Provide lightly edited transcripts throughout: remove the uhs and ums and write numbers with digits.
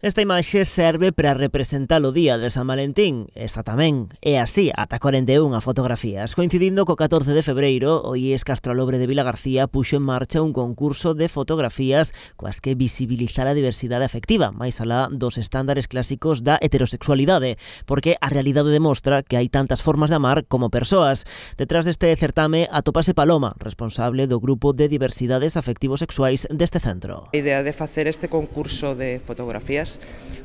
Esta imaxe serve para representar o día de San Valentín. Esta tamén é así, ata 41 fotografías. Coincidindo co 14 de febreiro, o IES Castrolobre de Vilagarcía puxo en marcha un concurso de fotografías coas que visibilizar a diversidade afectiva, máis alá dos estándares clásicos da heterosexualidade, porque a realidade demostra que hai tantas formas de amar como persoas. Detrás deste certame atopase Paloma, responsable do grupo de diversidades afectivo-sexuais deste centro. A idea de facer este concurso de fotografías,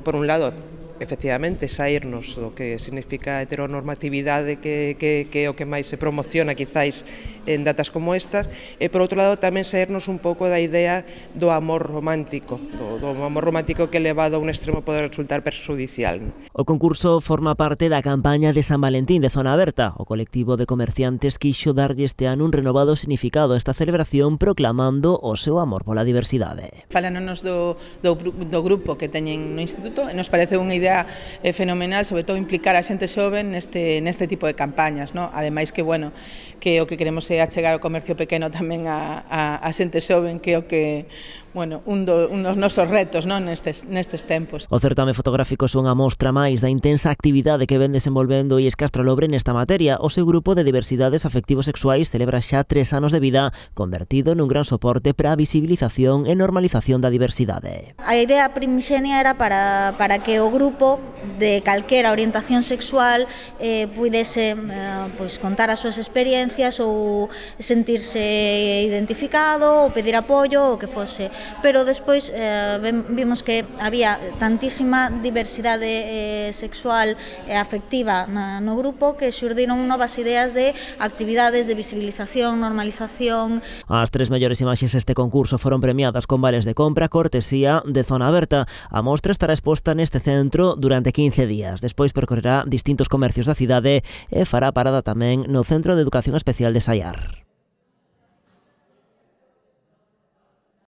por un lado, efectivamente, saírnos do que significa a heteronormatividade que é o que máis se promociona quizáis en datas como estas, e por outro lado tamén saírnos un pouco da idea do amor romántico, do amor romántico que elevado a un extremo pode resultar perxudicial. O concurso forma parte da campaña de San Valentín de Zona Aberta. O colectivo de comerciantes quixo darlle este ano un renovado significado a esta celebración proclamando o seu amor pola diversidade. Fálanos do grupo que teñen no instituto e nos parece unha idea fenomenal, sobre todo implicar a xente xoven neste tipo de campañas, ¿no? Ademais que, bueno, que o que queremos é achegar o comercio pequeno tamén a xente xoven, que é o que, bueno, un dos nosos retos, non, nestes tempos. O certame fotográfico é unha mostra máis da intensa actividade que ven desenvolvendo o IES Castrolobre nesta materia. O seu grupo de diversidades afectivo-sexuais celebra xa 3 anos de vida, convertido nun gran soporte para a visibilización e normalización da diversidade. A idea primixenia era para que o grupo de calquera orientación sexual puidese contar as súas experiencias ou sentirse identificado ou pedir apoio ou que fose. Pero despois vimos que había tantísima diversidade sexual e afectiva no grupo que xurdiron novas ideas de actividades de visibilización, normalización. As 3 mellores imaxes deste concurso foron premiadas con vales de compra cortesía de Zona Aberta. A mostra estará exposta neste centro durante 15 días. Despois percorrerá distintos comercios da cidade e fará parada tamén no Centro de Educación Especial de Saiar.